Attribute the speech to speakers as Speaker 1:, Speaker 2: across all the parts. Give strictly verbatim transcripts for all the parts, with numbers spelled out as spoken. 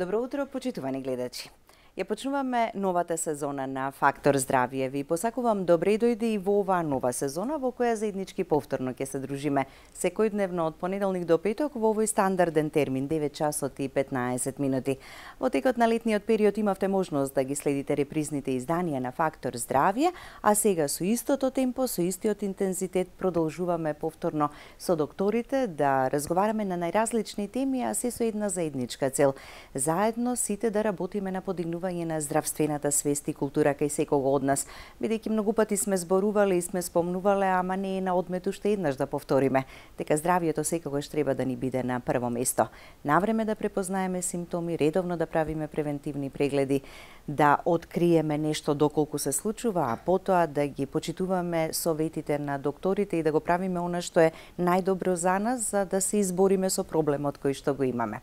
Speaker 1: Добро утро, почитувани гледачи. Ја почнуваме новата сезона на Фактор здравје. Ви посакувам добре дојде и во оваа нова сезона во која заеднички повторно ќе се дружиме секојдневно од понеделник до петок во овој стандарден термин девет часот и петнаесет минути. Во текот на летниот период имавте можност да ги следите репризните изданија на Фактор здравје, а сега со истото темпо, со истиот интензитет продолжуваме повторно со докторите да разговараме на најразлични теми, а се со една заедничка цел. Заедно сите да работиме на подигнување на здравствената свест и култура кај секого од нас, бидејќи многу пати сме зборувале и сме спомнувале, ама не е на одмет уште еднаш да повториме, дека здравието секогаш треба да ни биде на прво место. Навреме да препознаеме симптоми, редовно да правиме превентивни прегледи, да откриеме нешто доколку се случува, а потоа да ги почитуваме советите на докторите и да го правиме она што е најдобро за нас, за да се избориме со проблемот кој што го имаме.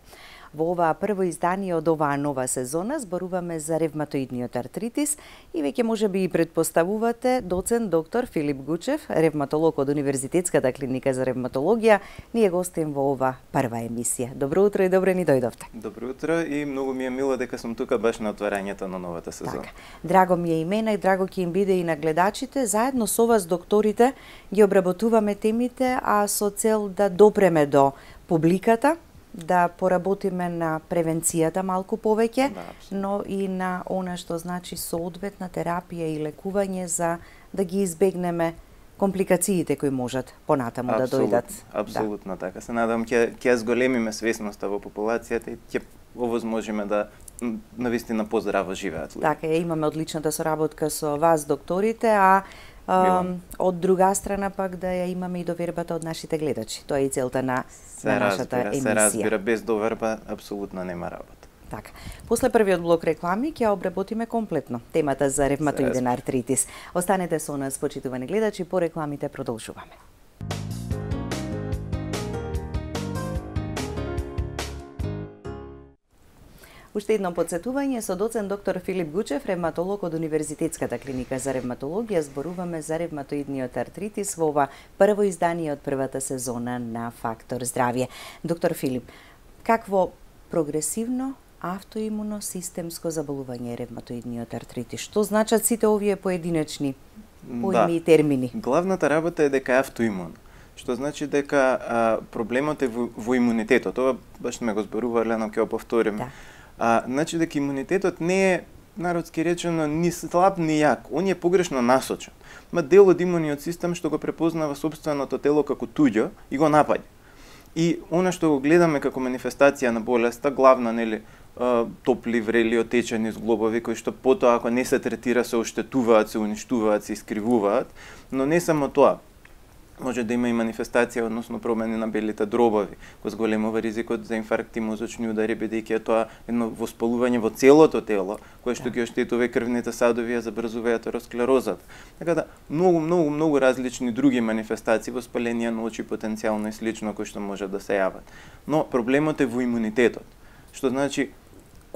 Speaker 1: Во оваа прво издание од оваа нова сезона зборуваме за ревматоидниот артритис и веќе можеби и предпоставувате доцент доктор Филип Гучев, ревматолог од Универзитетската клиника за ревматологија, ни е гостин во ова прва емисија. Добро утро и добре ни дојдовте.
Speaker 2: Добро утро и многу ми е мило дека сум тука баш на отварањето на новата сезона.
Speaker 1: Така. Драго ми е и мене и драго ќе им биде и на гледачите. Заедно со вас докторите ги обработуваме темите, а со цел да допреме до публиката, да поработиме на превенцијата малку повеќе,
Speaker 2: да,
Speaker 1: но и на она што значи соодветна терапија и лекување за да ги избегнеме компликациите кои можат понатаму да дојдат.
Speaker 2: Апсолутно да. Така. Се надам ќе ќе зголемиме свесноста во популацијата и ќе овозможиме да навистина поздраво живеат луѓе.
Speaker 1: Така, имаме одличната соработка со вас докторите, а Um, од друга страна пак да ја имаме и довербата од нашите гледачи. Тоа е и целта на,
Speaker 2: се
Speaker 1: на нашата
Speaker 2: разбира,
Speaker 1: емисија.
Speaker 2: Се разбира, без доверба апсолутно нема работа.
Speaker 1: Така. После првиот блок реклами ќе обработиме комплетно темата за ревматоиден артритис. Останете со нас, почитувани гледачи, по рекламите продолжуваме. Уште едно подсетување со доцент доктор Филип Гучев, ревматолог од Универзитетската клиника за ревматологија, зборуваме за ревматоидниот артритис во ова прво издание од првата сезона на Фактор здравје. Доктор Филип, какво прогресивно автоимуно системско заболување е ревматоидниот артритис? Што значат сите овие поединечни поими и термини?
Speaker 2: Главната работа е дека е автоимун, што значи дека а, проблемот е во, во имунитетот. Ова баш ме го зборувале, но ќе го повторим. Да. А, значи дека имунитетот не е, народски речено, ни слаб ни јак, он е погрешно насочен. Ма дел од имуниот систем што го препознава собственото тело како туѓо и го напаѓа. И она што го гледаме како манифестација на болеста, главно, нели, топли, врели, отечени зглобови, кои што потоа, ако не се третира, се оштетуваат, се уништуваат, се искривуваат, но не само тоа. Може да има и манифестација, односно промени на белите дробови, кој зголемува ризикот за инфаркти, мозочни удари, бидејќи е тоа едно воспалување во целото тело, кое што ги оштетува крвните садови, ја забрзува атеросклерозата. Така да, многу, многу, многу различни други манифестации, воспаление на очи, потенцијално и слично, кои што може да се јават. Но проблемот е во имунитетот, што значи,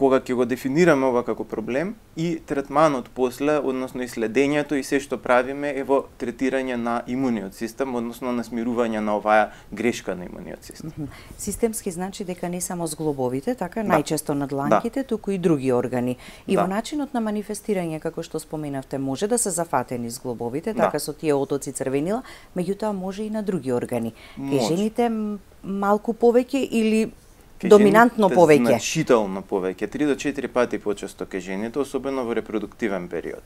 Speaker 2: кога ќе го дефинираме ова како проблем и третманот после, односно и следењето и се што правиме е во третирање на имуниот систем, односно на смирување на оваа грешка на имуниот систем.
Speaker 1: Mm -hmm. Системски значи дека не само зглобовите, така, да. Најчесто на дланките, да. Туку и други органи. И да. Во начинот на манифестирање, како што споменавте, може да се зафатени зглобовите, така, да. Со тие отоци црвенила, меѓутоа може и на други органи. Кај жените малку повеќе или доминантно повеќе?
Speaker 2: Значително повеќе, три до четири пати почесто кај жените, особено во репродуктивен период.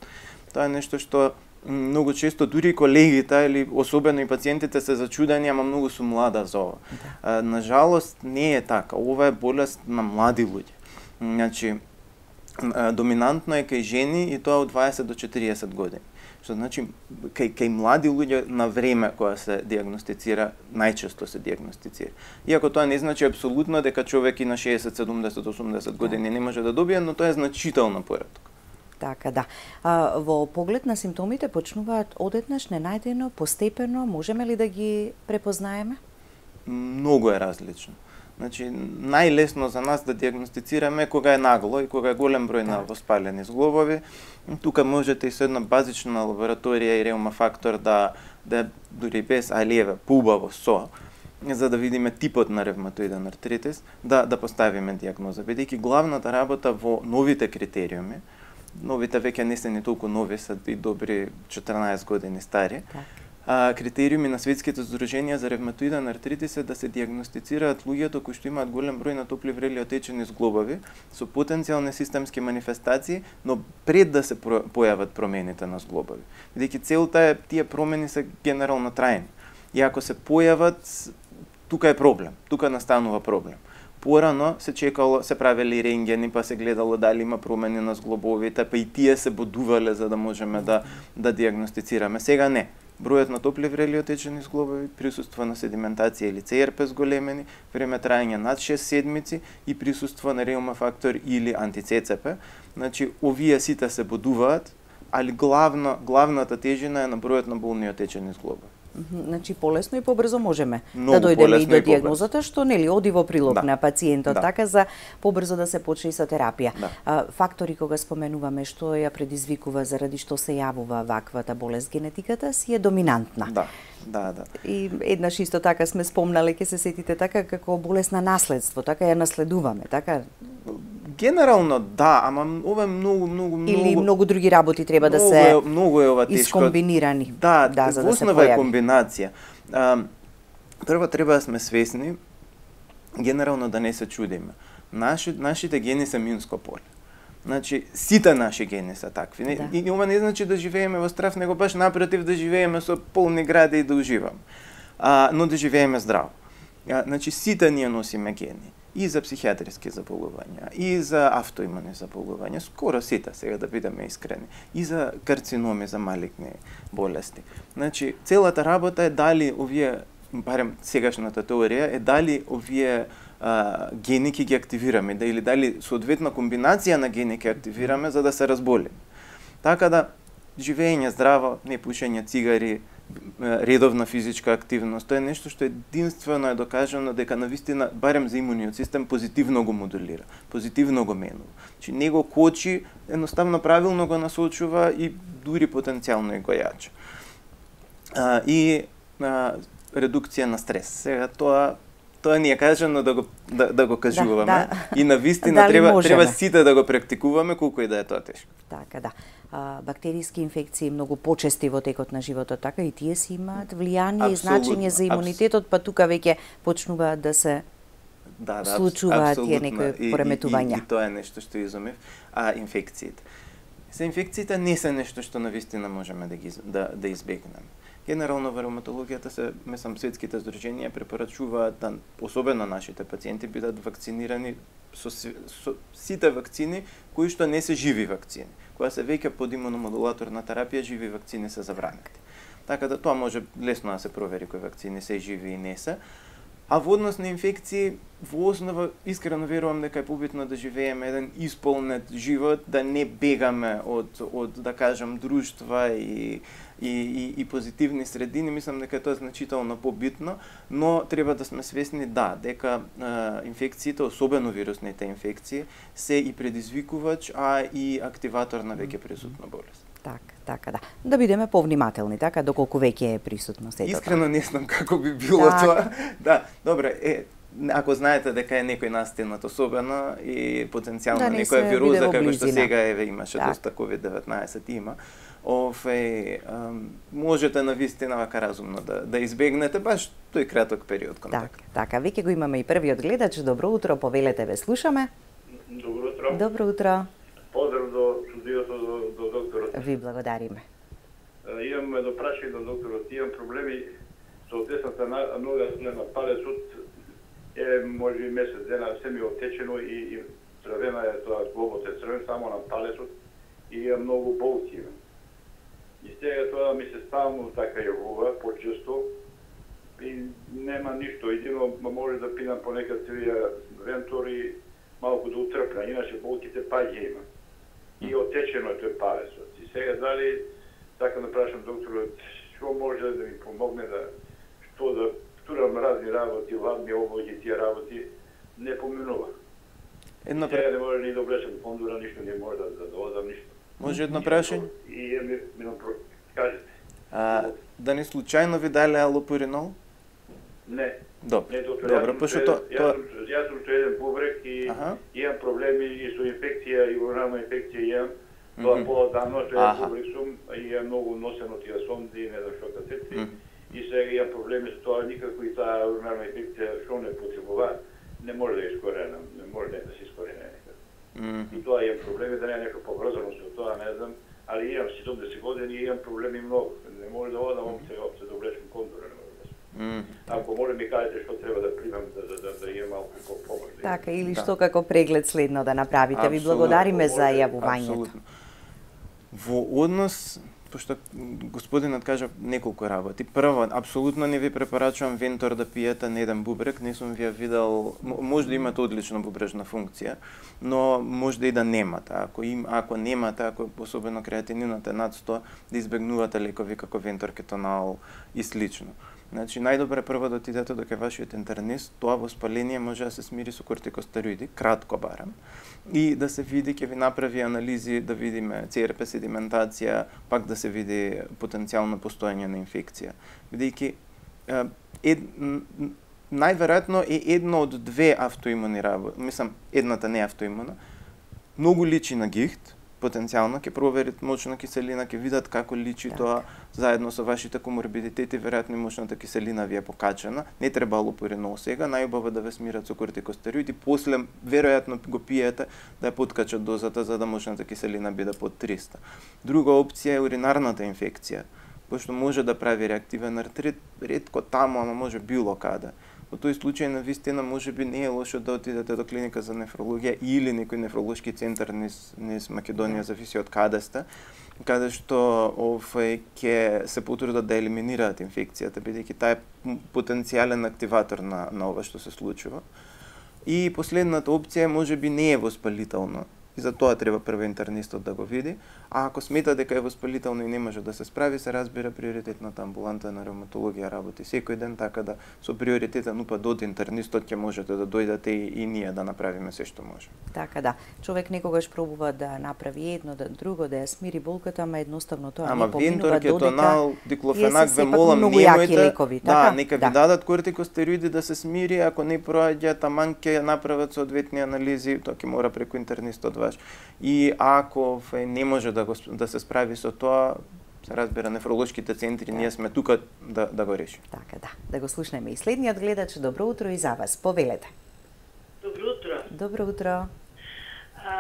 Speaker 2: Тоа е нешто што многу често дури колегите или особено и пациентите се зачудени, ама многу сум млада за ова. Да. На жалост не е така. Ова е болест на млади луѓе. Значи, доминантно е кај жени и тоа од дваесет до четириесет години. Што значи, кај, кај млади луѓе на време која се диагностицира, најчесто се диагностицира. Иако тоа не значи апсолутно дека човек и на шеесет, седумдесет, осумдесет години не може да добие, но тоа е значително пореток.
Speaker 1: Така, да. А, во поглед на симптомите почнуваат одеднаш, ненајдено, постепено, можеме ли да ги препознаеме?
Speaker 2: Многу е различно. Значи, најлесно за нас да диагностицираме кога е нагло и кога е голем број на воспалени зглобови. Тука можете и со една базична лабораторија и реума фактор да, да дури без алиеве, поубаво со, за да видиме типот на ревматоиден артритис, да да поставиме дијагноза, бидејќи главната работа во новите критериуми, новите веќе не се ни толку нови, се и добри четрнаесет години стари.
Speaker 1: Так.
Speaker 2: А, критериуми на светските здруженија за ревматоиден артритис е да се дијагностицираат луѓето кои што имаат голем број на топли врели отечени зглобови со потенцијални системски манифестации, но пред да се појават промените на зглобови. Бидејќи целта е тие промени се генерално трајни. И ако се појават, тука е проблем, тука настанува проблем. Порано се чекало, се правели рентгени, па се гледало дали има промени на зглобовите, па и тие се бодувале за да можеме да да дијагностицираме. Сега не. Бројот на топли врели отечени зглобови, присуство на седиментација или Це Ер Пе зголемени, време трајање над шест седмици и присуство на реума фактор или анти-Це Це Пе. Значи, овие сите се бодуваат, али главно, главната тежина е на бројот на болни отечени зглобови.
Speaker 1: Значи полесно и побрзо можеме
Speaker 2: Много
Speaker 1: да дојдеме и до
Speaker 2: и
Speaker 1: дијагнозата, што нели оди во прилог
Speaker 2: Да.
Speaker 1: на пациентот,
Speaker 2: Да.
Speaker 1: така за побрзо да се почне со терапија.
Speaker 2: Да.
Speaker 1: А, фактори кога споменуваме што ја предизвикува заради што се јавува ваквата болест, генетиката си е доминантна.
Speaker 2: Да, да, да.
Speaker 1: И еднаш исто така сме спомнале, ќе се сетите така како болест на наследство, така ја наследуваме, така
Speaker 2: Генерално да, ама ова е многу, многу, многу...
Speaker 1: или многу други работи треба да
Speaker 2: Многу
Speaker 1: се
Speaker 2: е, многу е ова тешко.
Speaker 1: искомбинирани.
Speaker 2: Да,
Speaker 1: да за
Speaker 2: во
Speaker 1: да се
Speaker 2: основа е
Speaker 1: појави.
Speaker 2: комбинација. А, прво треба да сме свесни, генерално да не се чудиме. Наши, нашите гени се минско поле. Значи, сите наши гени се такви.
Speaker 1: Да.
Speaker 2: И, и ова не значи да живееме во страв, него баш напротив да живееме со полни гради и да уживаме. А, но да живееме здраво. А, значи, сите ние носиме гени. И за психијатриски заболувања, и за автоимуни заболувања, скоро сите, сега да бидеме искрени, и за карциноми, за малигни болести. Значи, целата работа е дали овие, барем сегашната теорија, е дали овие а, гени ќе ги активираме, да, или дали соодветна комбинација на гени ќе активираме за да се разболиме. Така да, живење здраво, не пушење цигари, редовна физичка активност, тоа е нешто што единствено е докажано дека навистина, барем за имуниот систем, позитивно го модулира, позитивно го менува. Значи, него кочи, едноставно правилно го насочува и дури потенцијално и го јача. А, и а, редукција на стрес. Сега тоа тоа ни е кажано да го да, да го кажуваме
Speaker 1: Да, да.
Speaker 2: и навистина
Speaker 1: Дали
Speaker 2: треба
Speaker 1: можеме?
Speaker 2: треба сите да го практикуваме колку и да е тоа тешко.
Speaker 1: Така, да. А, бактериски инфекции многу почести во текот на животот, така и тие си имаат влијание и значење за имунитетот, па тука веќе почнуваат да се
Speaker 2: Да, да,
Speaker 1: случуваат тие
Speaker 2: апсолутно.
Speaker 1: некои
Speaker 2: И-
Speaker 1: пореметувања.
Speaker 2: И, и, и тоа е нешто што изумев. А инфекциите. За инфекциите не се нешто што навистина можеме да ги из- да, да избегнеме. Генерално во ревматологијата се, мислам, светските здруженија препорачуваат да особено нашите пациенти бидат вакцинирани со, си- со сите вакцини кои што не се живи вакцини. Кога се веќе под имуномодулаторна терапија, живи вакцини се забранети. Така да тоа може лесно да се провери кои вакцини се живи и не се. А во однос на инфекции, во основа, искрено верувам дека е побитно да живееме еден исполнет живот, да не бегаме од, од да кажам, друштва и, и, и, и позитивни средини. Мислам дека тоа е значително побитно, но треба да сме свесни, да, дека а, инфекциите, особено вирусните инфекции, се и предизвикувач, а и активатор на веќе присутна болест.
Speaker 1: Така, така, да. Да бидеме повнимателни, така, доколку веќе е присутно сето.
Speaker 2: Искрено не знам како би било
Speaker 1: Так.
Speaker 2: тоа. Да, добре, е, ако знаете дека е некој настигнат особено и потенцијално
Speaker 1: Да не
Speaker 2: некоја
Speaker 1: се
Speaker 2: вироза
Speaker 1: биде во
Speaker 2: како што
Speaker 1: близина.
Speaker 2: сега еве имаше
Speaker 1: Так.
Speaker 2: доста ковид деветнаесет има, ове можете навистина вака разумно да да избегнете баш тој краток период контакт.
Speaker 1: Така, така, веќе го имаме и првиот гледач. Добро утро, повелете, ве слушаме.
Speaker 3: Добро утро.
Speaker 1: Добро утро.
Speaker 3: Поздрав до студиото до, до докторот.
Speaker 1: Ви благодариме.
Speaker 3: Е, Имам едно прашање до докторот. Имам проблеми со десната на- нога на палецот. Е, може и месец дена се ми отечено и, и црвена е тоа зглобот е црвен само на палецот и имам многу болки. И сега тоа ми се ставно така јавува почесто и нема ништо. Едино може да пинам понекад цвија вентор и малку да утрпна, иначе болките паѓа има. И отечено е тој палецот. И сега дали така да прашам докторот што може да ми помогне да што да турам разни работи, ладни облаки, тие работи не поминува.
Speaker 2: Едно
Speaker 3: Сега
Speaker 2: пра...
Speaker 3: не може ни да облечам фондура, ништо не може да, да доодам ништо.
Speaker 2: може едно прашање?
Speaker 3: И е ми, ми кажете.
Speaker 2: А, да не случајно ви дале алопуринол?
Speaker 3: Не,
Speaker 2: Добро.
Speaker 3: Не, доктор,
Speaker 2: Добро,
Speaker 3: јас
Speaker 2: пошто
Speaker 3: тоа...
Speaker 2: тоа...
Speaker 3: Јас сум еден бубрек и
Speaker 2: Аха.
Speaker 3: имам проблеми и со инфекција, и уринарна инфекција имам. Тоа по-давно што јас бубрек сум и е многу носено тие сонди и не знам што кацеци. И сега имам проблеми со тоа, никако и таа уринарна инфекција што не потребува, не може да ја искорена, не може да се искорене никако. И тоа имам проблеми, да не е нешто поврзано со тоа, не знам, али имам седумдесет години и имам проблеми многу. Не може да одам опце, опце да облечам кондора, не може да се. Ако може ми кажете што треба да примам да да да, да имам малку помош.
Speaker 1: Така, или да. Што како преглед следно да направите. Абсолютно. Ви благодариме за јавувањето.
Speaker 2: Во однос, пошто господинот кажа неколку работи. Прво, апсолутно не ви препорачувам Вентор да пиете на еден бубрек, не сум ви ја видел, може да имате одлична бубрежна функција, но може да и да немате. Ако им, ако немате, ако особено креатининот е над сто, да избегнувате лекови како Вентор, кетонал и слично. Значи, најдобре прво да отидете до кај вашиот интернист, тоа воспаление може да се смири со кортикостероиди, кратко барем, и да се види, ќе ви направи анализи, да видиме Це Ер Пе седиментација, пак да се види потенцијално постоење на инфекција. Бидејќи ед, најверојатно е едно од две автоимуни работи, мислам, едната не е автоимуна, многу личи на гихт, потенцијално ќе проверит мочна киселина, ќе видат како личи так. Тоа заедно со вашите коморбидитети, веројатно мочната киселина ви е покачена. Не треба алопуринол сега, најубаво да ве смират со кортикостероиди, после веројатно го пиете да ја подкачат дозата за да мочната киселина биде под триста. Друга опција е уринарната инфекција, пошто може да прави реактивен артрит, ретко таму, ама може било каде. Во тој случај на вистина може би не е лошо да отидете до клиника за нефрологија или некој нефролошки центар низ, низ Македонија, зависи од каде сте, каде што овој ќе се потрудат да елиминираат инфекцијата, бидејќи таа е потенцијален активатор на на ова што се случува. И последната опција може би не е воспалителна. И за тоа треба прво интернистот да го види, а ако смета дека е воспалително и не може да се справи, се разбира приоритетната амбуланта на ревматологија работи секој ден, така да со приоритетен упат од интернистот ќе можете да дојдете и, и ние да направиме се што може.
Speaker 1: Така да, човек некогаш пробува да направи едно, да друго, да ја смири болката, ама едноставно тоа
Speaker 2: ама
Speaker 1: не поминува
Speaker 2: Вентор, кетонал, диклофенак, ве
Speaker 1: молам,
Speaker 2: молам,
Speaker 1: немојте, лекови, така?
Speaker 2: Да, нека да. ви дадат кортикостероиди да се смири, ако не проаѓа, таман ќе направат соодветни анализи, тоа ќе мора преку интернистот ваш. И ако не може да, го, да се справи со тоа, се разбира, нефролошките центри, да. Ние сме тука да, да го решим.
Speaker 1: Така, да. Да го слушнеме и следниот гледач. Добро утро и за вас. Повелете.
Speaker 4: Добро утро.
Speaker 1: Добро утро.
Speaker 4: А,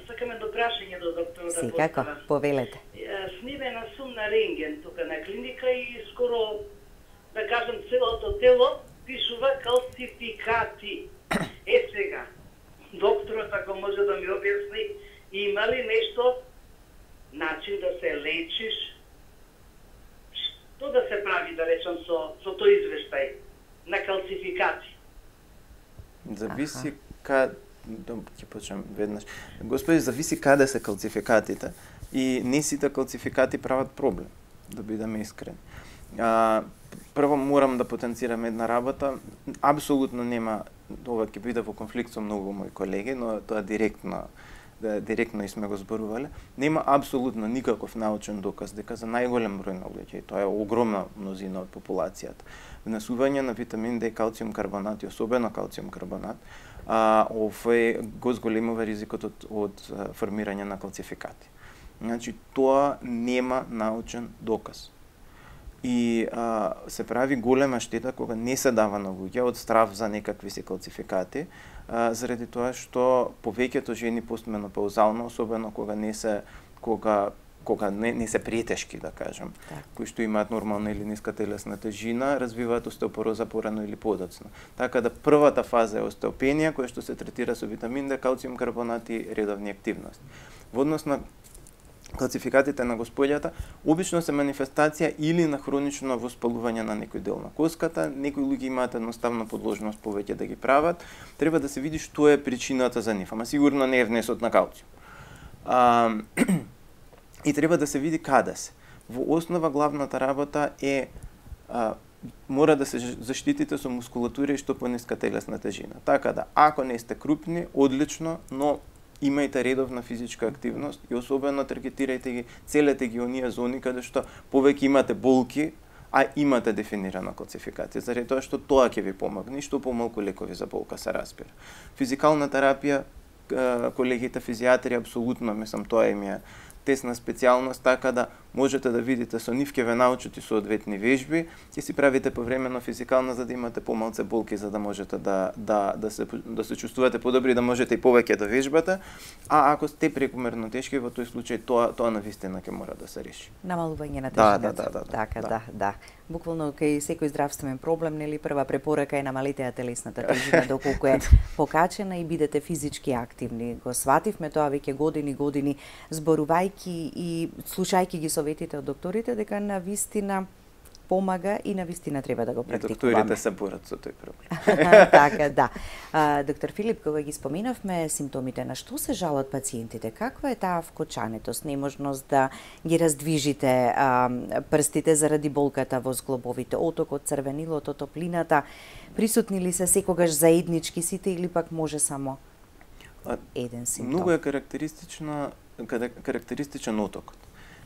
Speaker 4: сакаме до прашање до доктора.
Speaker 1: Секако, повелете.
Speaker 4: Снимена сум на рентген тука на клиника и скоро, да кажам, целото тело пишува калцификати. Е сега, докторот ако може да ми објасни, има ли нешто, начин да се лечиш, што да се прави, да речам, со, со тој извештај на калцификати?
Speaker 2: Зависи каде, ќе почнем веднаш. Господи, зависи каде се калцификатите и не сите калцификати прават проблем, да бидеме искрени. А, прво морам да потенцирам една работа, апсолутно нема, ова ќе биде во конфликт со многу мои колеги, но тоа директно да директно и сме го зборувале, нема апсолутно никаков научен доказ дека за најголем број на луѓе, тоа е огромна мнозина од популацијата, внесување на витамин Д, калциум карбонат и особено калциум карбонат, а овој го зголемува ризикот од, од формирање на калцификати. Значи тоа нема научен доказ. И а, се прави голема штета кога не се дава на луѓе од страв за некакви си калцификати, а, заради тоа што повеќето жени постменопаузално, особено кога не се кога кога не, не се претешки, да кажам, так. кои што имаат нормална или ниска телесна тежина, развиваат остеопороза порано или подоцно. Така да првата фаза е остеопенија, која што се третира со витамин Д, калциум карбонат и редовни активности. Во однос на калцификатите на господјата, обично се манифестација или на хронично воспалување на некој дел на коската, некои луѓе имаат едноставно подложност повеќе да ги прават, треба да се види што е причината за нив, ама сигурно не е внесот на калциум. А, и треба да се види каде се. Во основа главната работа е а, мора да се заштитите со мускулатура и што пониска телесна тежина. Така да, ако не сте крупни, одлично, но имајте редовна физичка активност и особено таргетирајте ги, целете ги оние зони каде што повеќе имате болки, а имате дефинирана класификација, заради тоа што тоа ќе ви помогне, што помалку лекови за болка се разбира. Физикална терапија, колегите физијатри апсолутно, мислам, тоа им е тесна специјалност, така да можете да видите со нив ќе ве научат и соодветни вежби, ќе си правите повремено физикална за да имате помалце болки за да можете да да да се да се чувствувате подобри, да можете и повеќе да вежбате, а ако сте прекумерно тешки, во тој случај тоа тоа навистина ќе мора да се реши.
Speaker 1: Намалување на
Speaker 2: Да,
Speaker 1: тежината.
Speaker 2: да, да, да, да,
Speaker 1: така,
Speaker 2: да.
Speaker 1: да, да. Буквално кај секој здравствен проблем, нели, прва препорака е намалите ја телесната тежина доколку е покачена и бидете физички активни. Го свативме тоа веќе години години зборувајќи и слушајќи ги советите од докторите дека на вистина помага и на вистина треба да го практикуваме.
Speaker 2: И докторите се борат со тој проблем.
Speaker 1: Така, да. А, доктор Филип, кога ги споминавме симптомите, на што се жалат пациентите? Каква е таа вкочанетост, неможност да ги раздвижите а, прстите заради болката во зглобовите, отокот, црвенилото, топлината? Присутни ли се секогаш заеднички сите или пак може само еден симптом?
Speaker 2: Многу е карактеристично карактеристичен отокот.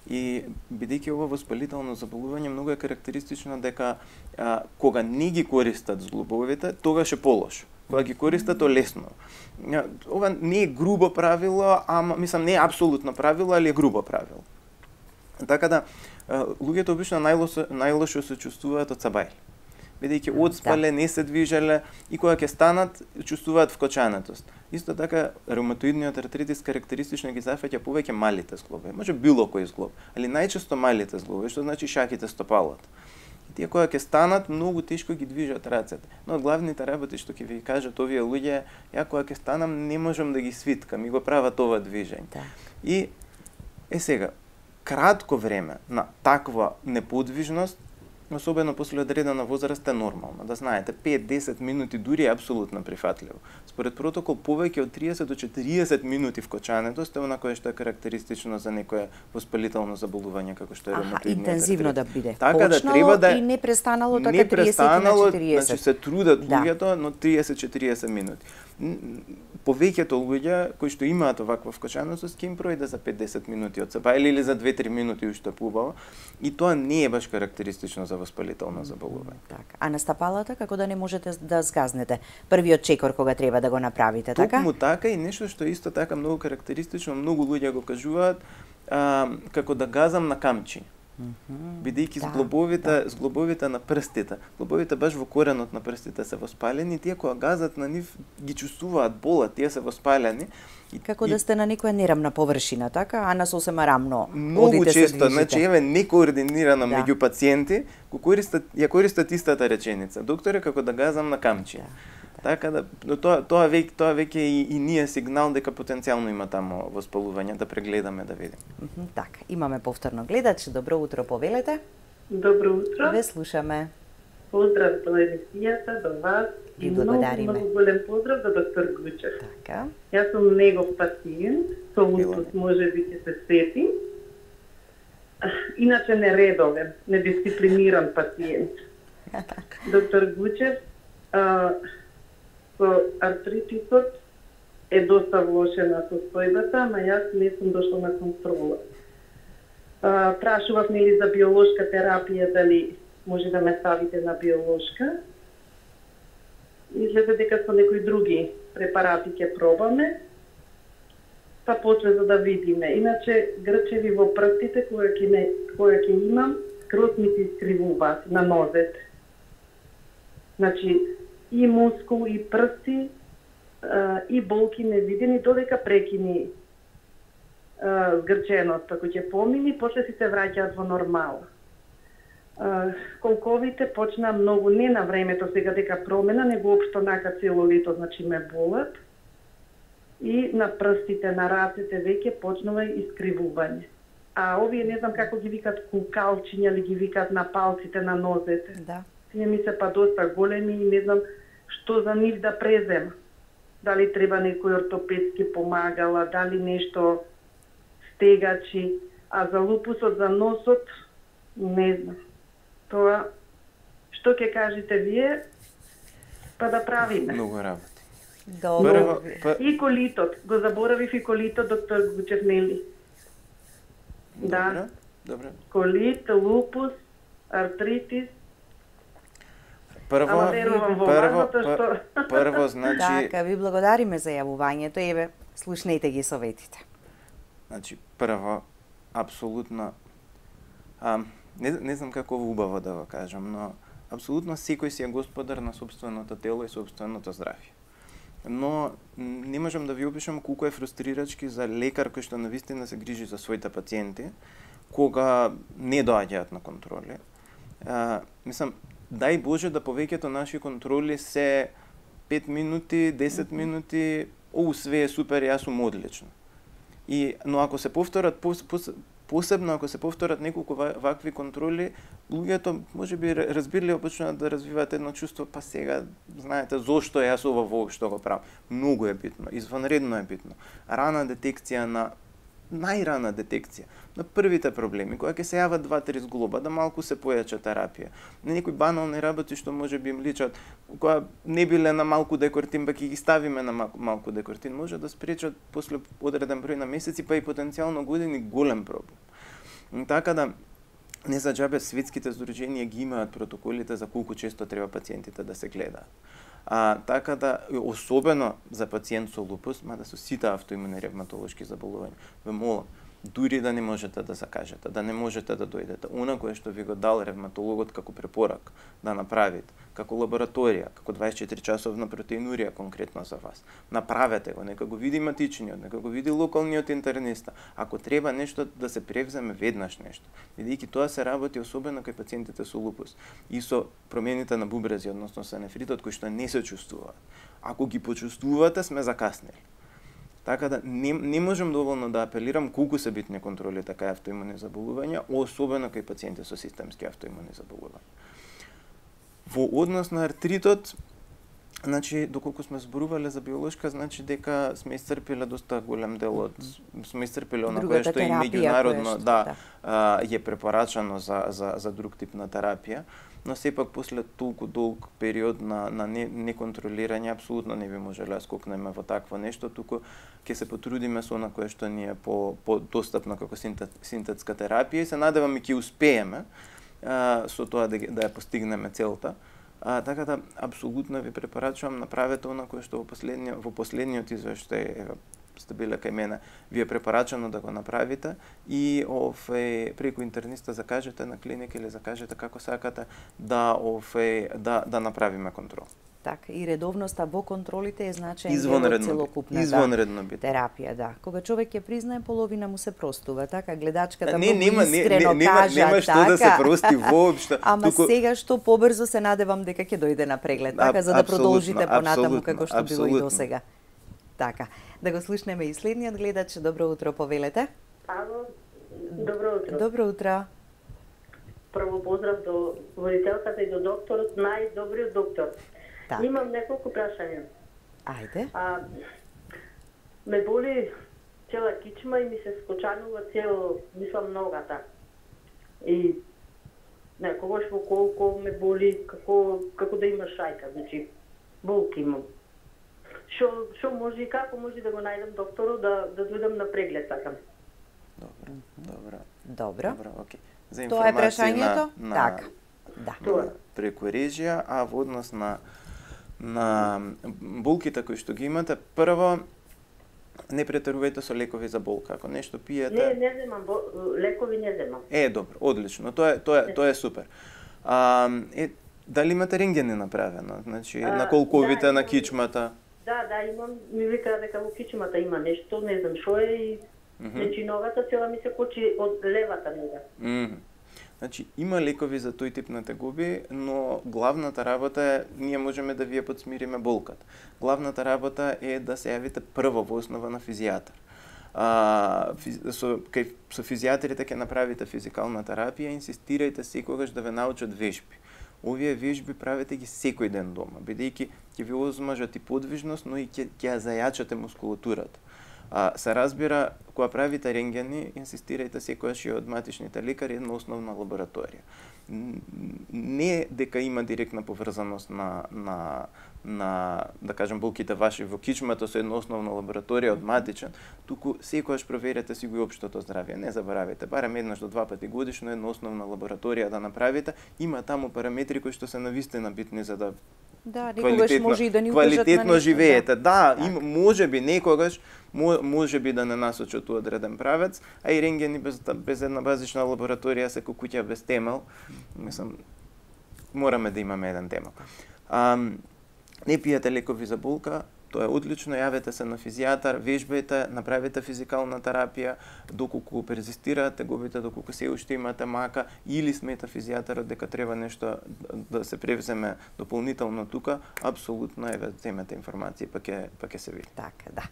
Speaker 2: И бидејќи ова воспалително заболување, многу е карактеристично дека а, кога не ги користат зглобовите, тогаш е полошо. Кога ги користат, то лесно. Ова не е грубо правило, ама мислам не е апсолутно правило, али е грубо правило. Така да луѓето обично најлошо најлошо се чувствуваат од сабајли. Бидејќи одспале, да. Не се движеле и кога ќе станат, чувствуваат вкочанетост. Исто така, реуматоидниот артритис карактеристично ги зафаќа повеќе малите зглобови. Може било кој зглоб, али најчесто малите зглобови, што значи шаките стопалот. И тие кога ќе станат, многу тешко ги движат рацете. Но од главните работи што ќе ви кажат овие луѓе, ја кога ќе станам не можам да ги свиткам и го прават ова движење.
Speaker 1: Да.
Speaker 2: И е сега, кратко време на таква неподвижност, особено после одредена возраст е нормално. Да знаете, пет до десет минути дури е апсолутно прифатливо. Според протокол, повеќе од триесет до четириесет минути вкочанетост е она кое што е карактеристично за некое воспалително заболување како што е ревматоидниот артритис.
Speaker 1: Интензивно да биде.
Speaker 2: Така да треба да
Speaker 1: и не престанало така
Speaker 2: не
Speaker 1: триесет
Speaker 2: престанало,
Speaker 1: на четириесет.
Speaker 2: значи се трудат
Speaker 1: Да.
Speaker 2: луѓето, но триесет до четириесет минути. Повеќето луѓе кои што имаат оваква вкочанетост ќе им пројде за пет до десет минути од себе или за две до три минути уште побаво, и тоа не е баш карактеристично за воспалително заболување.
Speaker 1: Така. А на стапалата како да не можете да згазнете првиот чекор кога треба да го направите, така?
Speaker 2: Токму така и нешто што исто така многу карактеристично, многу луѓе го кажуваат, а, како да газам на камчи.
Speaker 1: Mm-hmm.
Speaker 2: Бидејќи
Speaker 1: да,
Speaker 2: зглобовите,
Speaker 1: да.
Speaker 2: зглобовите на прстите, зглобовите баш во коренот на прстите се воспалени, тие кога газат на нив ги чувствуваат болат, тие се воспалени.
Speaker 1: И, како да сте на некоја нерамна површина, така, а на сосема рамно
Speaker 2: многу
Speaker 1: одите
Speaker 2: често,
Speaker 1: се
Speaker 2: значи еве некоординирано
Speaker 1: Да.
Speaker 2: меѓу пациенти, го користат ја користат истата реченица. Докторе, како да газам на камчи.
Speaker 1: Да.
Speaker 2: Така да, но тоа тоа веќе тоа веќе и, и ние сигнал дека потенцијално има таму воспалување, да прегледаме да видиме.
Speaker 1: Мхм, така, имаме повторно гледач. Добро утро, повелете.
Speaker 5: Добро утро.
Speaker 1: Ве слушаме.
Speaker 5: Поздрав до емисијата, до вас.
Speaker 1: Ви
Speaker 5: И
Speaker 1: благодариме.
Speaker 5: многу, многу голем поздрав до доктор Гучев.
Speaker 1: Така.
Speaker 5: Јас сум негов пациент, со лупус може би ќе се сети. Иначе нередовен, недисциплиниран пациент. Доктор Гучев, а, со артритисот е доста влошена состојбата, ама јас не сум дошла на контрола. А, прашував нели за биолошка терапија, дали може да ме ставите на биолошка. Изгледа дека со некои други препарати ќе пробаме, па после за да видиме. Иначе грчеви во прстите кога ќе не кога ќе имам, скроз ми се искривуваат на нозете. Значи и мускул и прсти а, и болки невидени додека прекини а, згрченост, ако ќе помини, после си се враќаат во нормала. Uh, колковите почна многу не на времето сега дека промена, него општо нака цело лето, значи ме болат. И на прстите, на рацете веќе почнува искривување. А овие не знам како ги викат кукалчиња или ги викат на палците на нозете.
Speaker 1: Да.
Speaker 5: Тие ми се па доста големи и не знам што за нив да презема. Дали треба некој ортопедски помагала, дали нешто стегачи, а за лупусот, за носот, не знам. Тоа, што ќе кажете вие, па да правиме.
Speaker 2: Многу работи.
Speaker 1: Добро.
Speaker 2: Прво, па,
Speaker 5: И колитот, го заборавив и колитот, доктор Гучев, нели?
Speaker 2: добро,
Speaker 5: Да.
Speaker 2: добро.
Speaker 5: Колит, лупус, артритис.
Speaker 2: Прво,
Speaker 5: Ама верувам во
Speaker 2: прво,
Speaker 5: вас, затоа што...
Speaker 2: прво, значи...
Speaker 1: Така, ви благодариме за јавувањето, еве, слушнете ги советите.
Speaker 2: Значи, прво, апсолутно, а, не, не знам како убаво да го кажам, но апсолутно секој си е господар на собственото тело и собственото здравје. Но не можам да ви опишам колку е фрустрирачки за лекар кој што навистина се грижи за своите пациенти, кога не доаѓаат на контроли. А, мислам, дај Боже да повеќето наши контроли се пет минути, десет минути, оу, све е супер, јас сум одлично. И, но ако се повторат, пос, пос, посебно ако се повторат неколку вакви контроли, луѓето можеби разбирливо почнуваат да развиваат едно чувство, па сега знаете зошто јас ова воопшто го правам. Многу е битно, извонредно е битно. Рана детекција на најрана детекција на првите проблеми, кога ќе се јават два-три зглоба, да малку се појача терапија. На некои банални работи што може би им личат, кога не биле на малку декортин, па ќе ги ставиме на малку, малку декортин, може да спречат после одреден број на месеци, па и потенцијално години голем проблем. Така да, не за џабе светските здруженија ги имаат протоколите за колку често треба пациентите да се гледаат. А, така да, особено за пациент со лупус, мада со сите автоимуни ревматолошки заболувања, ве молам, дури да не можете да закажете, да не можете да дојдете, она кое што ви го дал ревматологот како препорак да направите, како лабораторија, како дваесет и четири часовна протеинурија конкретно за вас. Направете го, нека го види матичниот, нека го види локалниот интерниста. Ако треба нешто да се превземе веднаш нешто, бидејќи тоа се работи особено кај пациентите со лупус и со промените на бубрези, односно со нефритот кој што не се чувствуваат. Ако ги почувствувате, сме закаснели. Така да не, не можам доволно да апелирам колку се битни контролите кај автоимуни заболувања, особено кај пациенти со системски автоимуни заболувања. Во однос на артритот, значи доколку сме зборувале за биолошка, значи дека сме исцрпиле доста голем дел од сме исцрпиле она кое што и меѓународно да, да. А, е препорачано за за за друг тип на терапија. Но сепак после толку долг период на, на не, неконтролирање, апсолутно не би можеле да скокнеме во такво нешто, туку ќе се потрудиме со она кое што ни е по, по достапно како синтет, синтетска терапија и се надевам и ќе успееме а, со тоа да, да ја постигнеме целта. А, така да, апсолутно ви препорачувам, направете она кое што во последниот, во последниот извештај сте биле кај мене, ви е препорачано да го направите и офе, преку интерниста закажете на клиника или закажете како сакате да офе, да да направиме контрол.
Speaker 1: Така, и редовноста во контролите е значаен дел од целокупната
Speaker 2: извонредно бит.
Speaker 1: терапија, да. Кога човек ќе признае, половина му се простува, така гледачката
Speaker 2: не,
Speaker 1: многу
Speaker 2: нема,
Speaker 1: искрено
Speaker 2: не,
Speaker 1: кажа,
Speaker 2: нема, нема што
Speaker 1: така.
Speaker 2: да се прости воопшто.
Speaker 1: Ама туку... сега што побрзо се надевам дека ќе дојде на преглед, така, за да продолжите понатаму како што било и досега. Така, да го слушнеме и следниот гледач. Добро утро, повелете.
Speaker 6: Ало, добро утро.
Speaker 1: Добро утро.
Speaker 6: Прво поздрав до водителката и до докторот, најдобриот доктор.
Speaker 1: Так.
Speaker 6: Имам неколку прашања.
Speaker 1: Ајде.
Speaker 6: А, ме боли цела кичма и ми се скочанува цело, мислам, ногата. И некогаш во колко ме боли, како, како да има шајка, значи, болки имам. Шо, шо може и како може да го најдам докторот да, да дојдам на преглед, така?
Speaker 2: Добро, добро.
Speaker 1: Добро.
Speaker 2: Добро, окей. За
Speaker 1: Тоа е
Speaker 2: информација
Speaker 1: прашањето?
Speaker 2: на, на,
Speaker 1: Така, да.
Speaker 2: на, преку режија, а во однос на на болките кои што ги имате, прво не претерувајте со лекови за болка. Ако нешто пиете...
Speaker 6: Не, не земам, лекови не земам.
Speaker 2: Е, добро, одлично. Тоа е тоа е, тоа е супер. А, е, дали имате рентгени направено? Значи, а, на колковите, да, на кичмата?
Speaker 6: Да, да, имам, ми вика дека во кичмата има нешто, не знам што е и mm -hmm. значи ногата цела ми се кочи од левата нога.
Speaker 2: Mm -hmm. Значи, има лекови за тој тип на тегоби, но главната работа е, ние можеме да вие подсмириме болката. Главната работа е да се јавите прво во основа на физијатар. А, физ, со, кај, со физијатрите ќе направите физикална терапија, инсистирајте секогаш да ве научат вежби. Овие вежби правете ги секој ден дома, бидејќи ќе ви озмажат и подвижност, но и ќе ќе ја зајачате мускулатурата. А, се разбира, кога правите рентгени, инсистирајте секогаш и од матичните лекари една основна лабораторија. Не дека има директна поврзаност на, на, на да кажем, болките ваши во кичмата со една основна лабораторија од матичен, туку секогаш проверете си го и општото здравје. Не заборавајте, барем еднаш до два пати годишно една основна лабораторија да направите. Има таму параметри кои што се навистина битни за да
Speaker 1: Да, некогаш може и да ни укажат на
Speaker 2: квалитетно
Speaker 1: нешто,
Speaker 2: живеете. Да,
Speaker 1: да
Speaker 2: има, може би некогаш може би да не насочат у одреден правец, а и рентгени без без една базична лабораторија се како куќа без темел. Мислам, мораме да имаме еден темел. А, не пиете лекови за болка, тоа е одлично, јавете се на физијатар, вежбајте, направете физикална терапија, доколку перзистираат тегобите, доколку се уште имате мака, или смета физијатарот дека треба нешто да се превземе дополнително тука, апсолутно еве земете информации, па ќе па ќе се види.
Speaker 1: Така, да.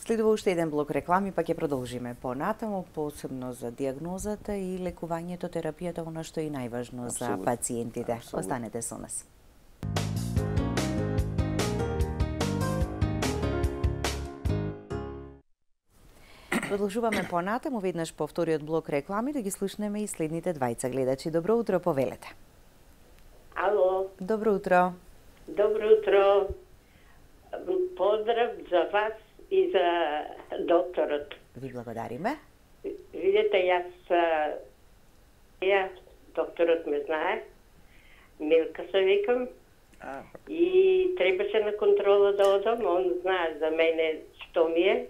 Speaker 1: Следува уште еден блок реклами, па ќе продолжиме понатаму, посебно за дијагнозата и лекувањето, терапијата, она што е најважно за пациентите. Абсолютно. Останете со нас. Продолжуваме понатаму, веднаш по вториот блок реклами, да ги слушнеме и следните двајца гледачи. Добро утро, повелете.
Speaker 7: Ало.
Speaker 1: Добро утро.
Speaker 7: Добро утро. Поздрав за вас и за докторот.
Speaker 1: Ви благодариме.
Speaker 7: Видете, јас ја, докторот ме знае, Милка се викам,
Speaker 2: А.
Speaker 7: и требаше на контрола да одам, он знае за мене што ми е,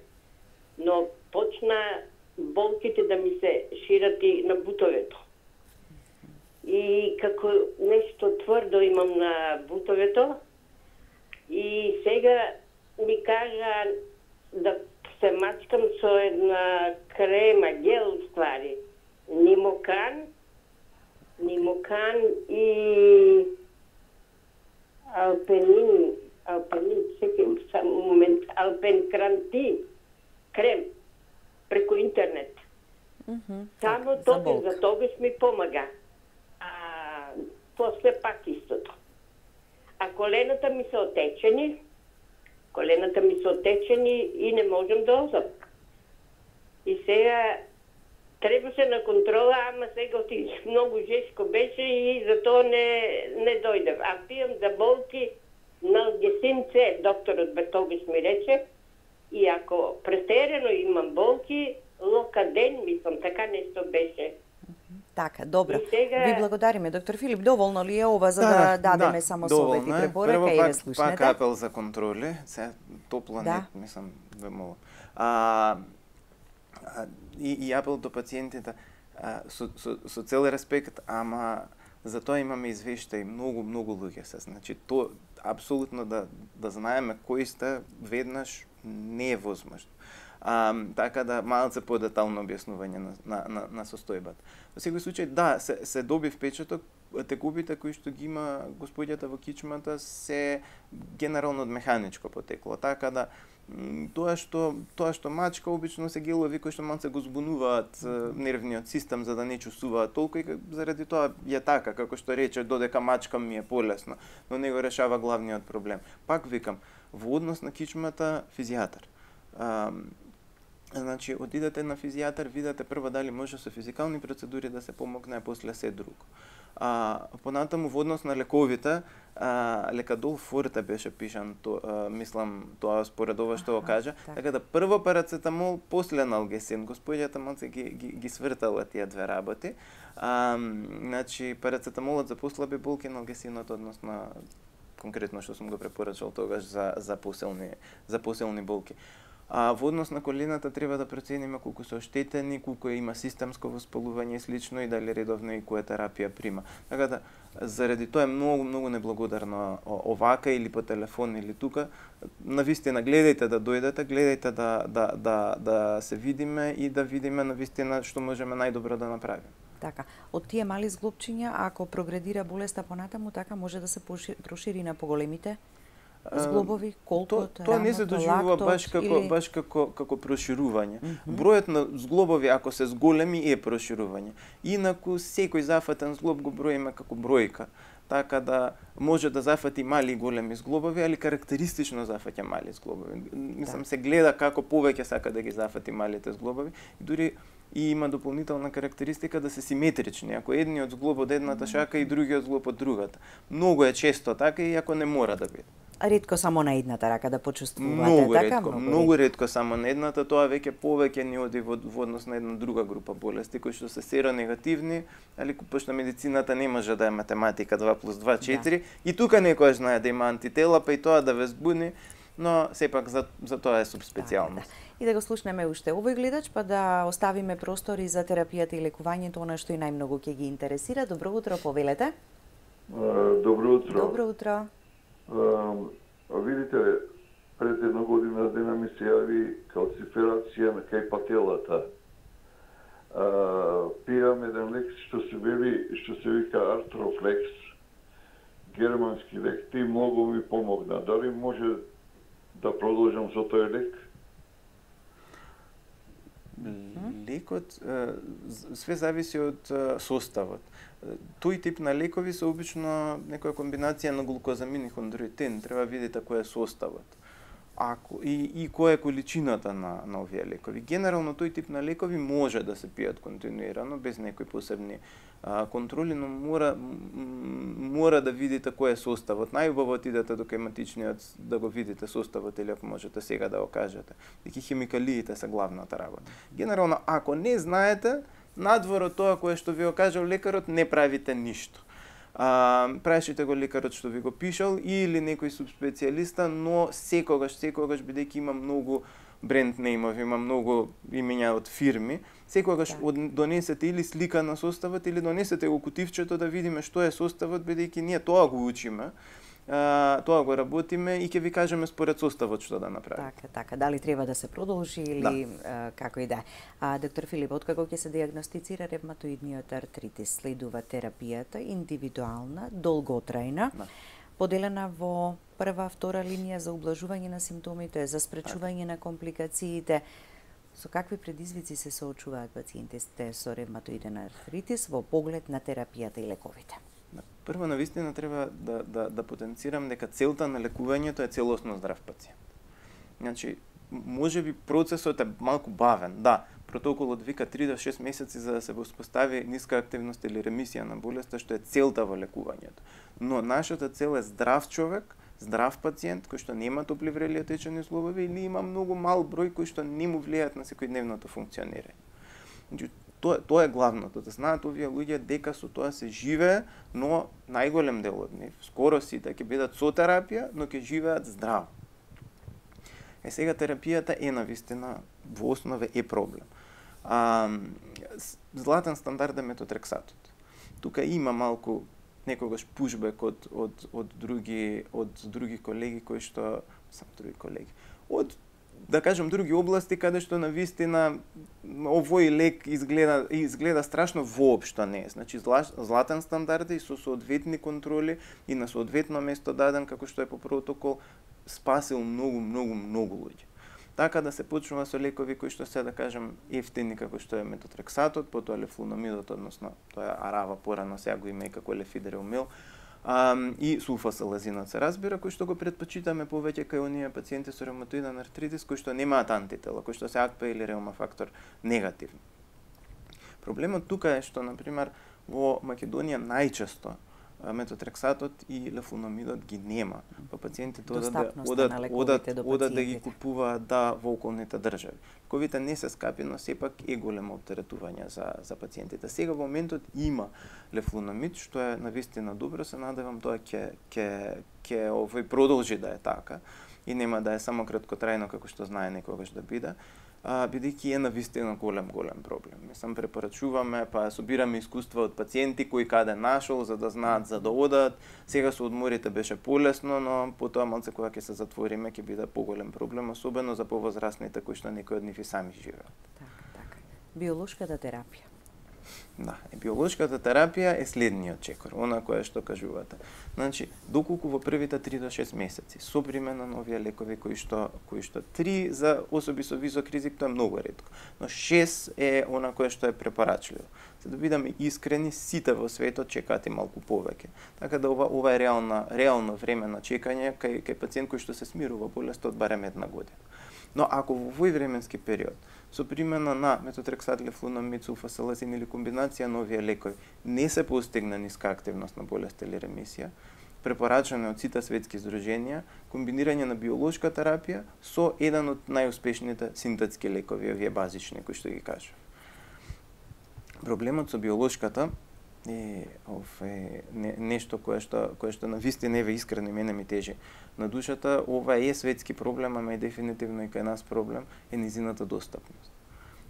Speaker 7: но почна болките да ми се шират и на бутовето. И како нешто тврдо имам на бутовето, и сега ми кажа да се мачкам со една крема, гел ствари. Нимокан, Нимокан и Алпенин, Алпенин, секам само момент, Алпенкранти, крем, преку интернет.
Speaker 1: Mm -hmm.
Speaker 7: Само
Speaker 1: так,
Speaker 7: тоа, за, за тогаш ми помага. А после пак истото. А колената ми се отечени, колената ми се отечени и не можам да одам. И сега требаше на контрола, ама сега отидеш многу жешко беше и затоа не, не дојдев. А пијам за болки налгесин С, докторот бе тогаш ми рече, и ако претерано имам болки, локаден, мислам, така нешто беше.
Speaker 1: Така, добро.
Speaker 7: Сега...
Speaker 1: Ви благодариме, доктор Филип. Доволно ли е ова за да, да дадеме
Speaker 2: да,
Speaker 1: само совети и препорака и
Speaker 2: пак,
Speaker 1: ве слушнете?
Speaker 2: пак апел за контроли, се топла
Speaker 1: да.
Speaker 2: не, мислам, ве молам. А, а, и, и апел до пациентите, а, со, со, со цел респект, ама за тоа имаме извештаи, многу, многу луѓе се. Значи, то апсолутно да, да знаеме кои сте веднаш не е возможно. А, така да малце подетално објаснување на, на, на, на состојбата. Во секој случај, да, се, се доби впечаток, текубите кои што ги има господјата во кичмата се генерално од механичко потекло. Така да тоа што тоа што мачка обично се гелови кои што малце го збунуваат нервниот систем за да не чувствуваат толку и заради тоа е така, како што рече, додека мачкам ми е полесно, но не го решава главниот проблем. Пак викам, во однос на кичмата физијатар. А, значи, одидете на физијатар, видете прво дали може со физикални процедури да се помогне, а после се друго. А, понатаму во однос на лековите, а, лекадол форте беше пишан, то, а, мислам, тоа според ова што го кажа, так. Така да прво парацетамол, после налгесин. Господјата малце ги, ги, ги свртала тие две работи. А, значи, парацетамолот за послаби болки, налгесинот однос на конкретно што сум го препорачал тогаш за за посилни за посилни болки. А во однос на колената треба да процениме колку се оштетени, колку има системско воспалување и слично и дали редовно и која терапија прима. Така да заради тоа е многу многу неблагодарно овака или по телефон или тука. Навистина гледајте да дојдете, гледајте да да да да се видиме и да видиме навистина што можеме најдобро да направиме.
Speaker 1: Така, од тие мали зглобчиња, ако прогредира болеста понатаму, така може да се прошири на поголемите? Зглобови, колку,
Speaker 2: тоа то не се доживува баш како или... баш како како проширување. Mm -hmm. Бројот на зглобови ако се зголеми е проширување. Инаку секој зафатен зглоб го броиме како бројка. Така да може да зафати мали и големи зглобови, али карактеристично зафаќа мали зглобови. Мислам да. Се гледа како повеќе сака да ги зафати малите зглобови. И дури и има дополнителна карактеристика да се симетрични. Ако едниот зглоб од едната шака и другиот зглоб од другата. Многу е често така, иако не мора да биде.
Speaker 1: Ретко само на едната рака да почувствувате,
Speaker 2: многу
Speaker 1: така?
Speaker 2: Ретко, многу, многу ретко само на едната, тоа веќе повеќе ни оди во, во однос на една друга група болести, кои што се серонегативни, али пошто медицината не може да е математика два плюс два четири, да. И тука некој знае да има антитела, па и тоа да ве збуни, но сепак за, за тоа е субспецијалност.
Speaker 1: Да, да. И да го слушнеме уште овој гледач, па да оставиме простори за терапијата и лекувањето, она што и најмногу ќе ги интересира. Добро утро, повелете.
Speaker 8: Добро утро.
Speaker 1: Добро утро.
Speaker 8: Uh, видите, пред една година дена ми се јави калциферација на кај пателата. Uh, пијам еден лек што се вели, што се вика Артрофлекс, германски лек. Ти многу ми помогна. Дали може да продолжам со тој лек?
Speaker 2: Лекот све зависи од составот. Тој тип на лекови се обично некоја комбинација на глукозамин и хондроитин. Треба видите кој е составот. Ако и и која е количината на на овие лекови. Генерално тој тип на лекови може да се пијат континуирано без некои посебни а, контроли, но мора мора да видите кој е составот. Најубаво идете до хематичниот да го видите составот или ако можете сега да го кажете. Деки хемикалиите се главната работа. Генерално ако не знаете, надвор од тоа кое што ви го кажал лекарот, не правите ништо. А, прашите го лекарот што ви го пишал или некој субспецијалиста, но секогаш, секогаш бидејќи има многу бренд неймови, има многу имења од фирми, секогаш да. Донесете или слика на составот или донесете го кутивчето да видиме што е составот, бидејќи ние тоа го учиме. Uh, тоа го работиме и ќе ви кажеме според составот што да направиме.
Speaker 1: Така, така, дали треба да се продолжи или да. uh, како и да. А доктор Филип, откако ќе се диагностицира ревматоидниот артритис, следува терапијата индивидуална, долготрајна, да. Поделена во прва, втора линија за ублажување на симптомите, за спречување на компликациите. Со какви предизвици се соочуваат пациентите со ревматоиден артритис во поглед на терапијата и лековите?
Speaker 2: Прво, навистина треба да, да, да потенцирам дека целта на лекувањето е целосно здрав пациент. Значи, може би процесот е малку бавен, да, протоколот вика три до шест месеци за да се воспостави ниска активност или ремисија на болеста, што е целта во лекувањето. Но нашата цел е здрав човек, здрав пациент кој што нема топли врели отечени зглобови или има многу мал број кои што не му влијаат на секојдневното функционирање. Значи, Тоа, тоа е главното, да знаат овие луѓе дека со тоа се живее, но најголем дел од нив, скоро сите ќе бидат со терапија, но ќе живеат здраво. Е сега терапијата е навистина во основа е проблем. А, златен стандард е метотрексатот. Тука има малку некогаш пушбек од од од други од други колеги кои што сам други колеги. Од да кажем други области каде што навистина овој лек изгледа изгледа страшно, воопшто не е. Значи златен стандард и со соодветни контроли и на соодветно место даден како што е по протокол спасил многу многу многу луѓе. Така да се почнува со лекови кои што се да кажем ефтини како што е метотрексатот, потоа лефлуномидот, односно тоа е арава, порано сега го има и како лефидерумил. Um, и сулфасалазинот се разбира, кој што го предпочитаме повеќе кај оние пациенти со ревматоиден артритис кои што немаат антитела, кои што се ак пе или реумафактор негативни. Проблемот тука е што, например, во Македонија најчесто метотрексатот и лефлуномидот ги нема. Па пациентите одат да, одат, одат, одат да ги купуваат да во околните држави. Ковите не се скапи, но сепак е големо оптеретување за, за пациентите. Сега во моментот има лефлуномид, што е навистина добро, се надевам тоа ќе ќе ќе овој продолжи да е така и нема да е само краткотрајно како што знае некогаш да биде. А, бидејќи е навистина голем, голем проблем. Мислам, препорачуваме, па собираме искуства од пациенти кои каде нашол, за да знаат за да одат. Сега со одморите беше полесно, но потоа малце кога ќе се затвориме, ќе биде поголем проблем, особено за повозрастните кои што некои од нив и сами живеат.
Speaker 1: Така, така. Биолошката терапија.
Speaker 2: Да, и биолошката терапија е следниот чекор, она која што кажувате. Значи, доколку во првите три до шест месеци со примена на овие лекови кои што кои што три за особи со висок ризик, тоа е многу ретко, но шест е она кое што е препорачливо. За да бидеме искрени, сите во светот чекаат и малку повеќе. Така да ова ова е реална реално време на чекање кај кај пациент кој што се смирува болест од барем една година. Но ако во овој временски период со примена на метотрексат, лефлунамид, сулфасалазин или комбинација на овие лекови не се постигна ниска активност на болест или ремисија, препорачано од сите светски здруженија, комбинирање на биолошка терапија со еден од најуспешните синтетски лекови, овие базични кои што ги кажав. Проблемот со биолошката е ове не, нешто кое што кое што навистина еве искрено мене ми тежи на душата. Ова е светски проблем, ама е дефинитивно и кај нас проблем е низината достапност.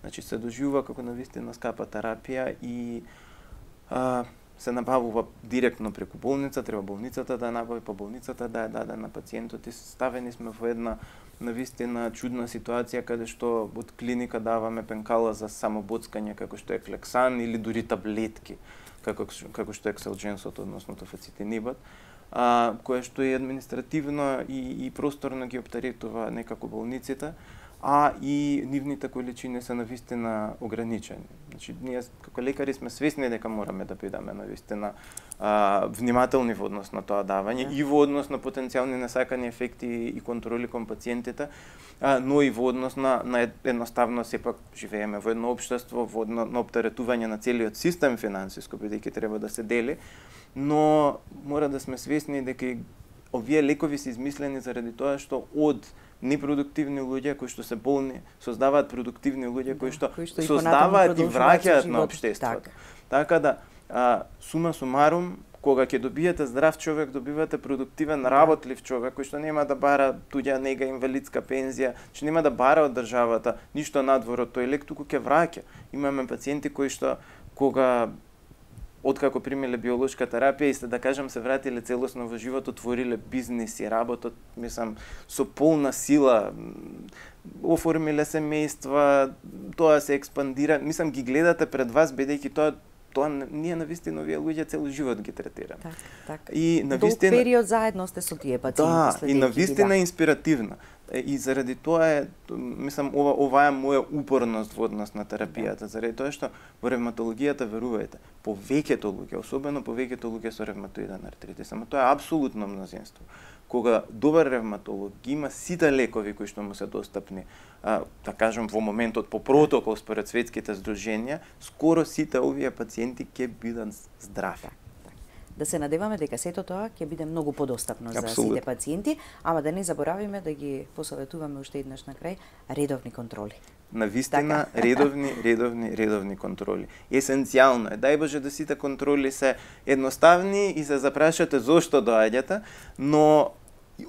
Speaker 2: Значи се доживува како навистина скапа терапија и а, се набавува директно преку болница, треба болницата да ја набави, па болницата да ја даде на пациентот и ставени сме во една навистина чудна ситуација каде што од клиника даваме пенкала за самобоцкање како што е клексан или дури таблетки како како што е кселџенсот, односно тофацитинибат, а кое што е административно и и просторно ги оптеретува некако болниците, а и нивните количини се навистина ограничени. Значи ние како лекари сме свесни дека мораме да бидеме навистина а, внимателни во однос на тоа давање и во однос на потенцијални несакани ефекти и контроли кон пациентите, а, но и во однос на, на едноставно сепак живееме во едно општество, во одно, на оптеретување на целиот систем финансиско, бидејќи треба да се дели, но мора да сме свесни дека овие лекови се измислени заради тоа што од непродуктивни луѓе кои што се болни создаваат продуктивни луѓе кои што,
Speaker 1: кои што
Speaker 2: создаваат и враќаат на општеството.
Speaker 1: Так.
Speaker 2: Така да а, сума сумарум, кога ќе добиете здрав човек, добивате продуктивен, работлив човек кој што нема да бара туѓа нега, инвалидска пензија, што нема да бара од државата ништо надвор од тој лек, туку ќе враќа. Имаме пациенти кои што кога откако примиле биолошка терапија и се да кажам се вратиле целосно во живот, отвориле бизнис и работат, мислам, со полна сила, оформиле семејства, тоа се експандира, мислам ги гледате пред вас бидејќи тоа тоа ние навистина овие луѓе цел живот ги третираме.
Speaker 1: Так, так.
Speaker 2: И навистина
Speaker 1: долг период заедно сте со тие пациенти.
Speaker 2: Да, и навистина е инспиративна. И заради тоа е, мислам, ова ова е моја упорност во однос на терапијата, заради тоа што во ревматологијата, верувајте, повеќето луѓе, особено повеќето луѓе со ревматоиден артритис, ама тоа е апсолутно мнозинство. Кога добар ревматолог ги има сите лекови кои што му се достапни, а, да кажам во моментот по протокол според светските здруженја, скоро сите овие пациенти ќе бидат здрави.
Speaker 1: Да се надеваме дека сето тоа ќе биде многу подостапно за
Speaker 2: Абсолютно.
Speaker 1: сите пациенти, ама да не заборавиме да ги посоветуваме уште еднаш на крај редовни контроли.
Speaker 2: Навистина редовни, редовни, редовни контроли. Есенцијално е, дај Боже да сите контроли се едноставни и се запрашате зошто доаѓате, но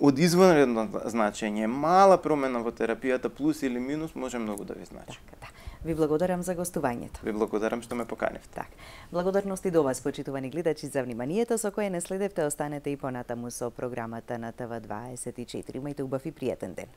Speaker 2: од извонредно значење, мала промена во терапијата плюс или минус може многу да ви значи.
Speaker 1: Така, да. Ви благодарам за гостувањето.
Speaker 2: Ви благодарам што ме поканивте.
Speaker 1: Так. Благодарности до вас, почитувани гледачи, за вниманието со кое не следевте. Останете и понатаму со програмата на Т В дваесет и четири. Имајте убав и пријатен ден.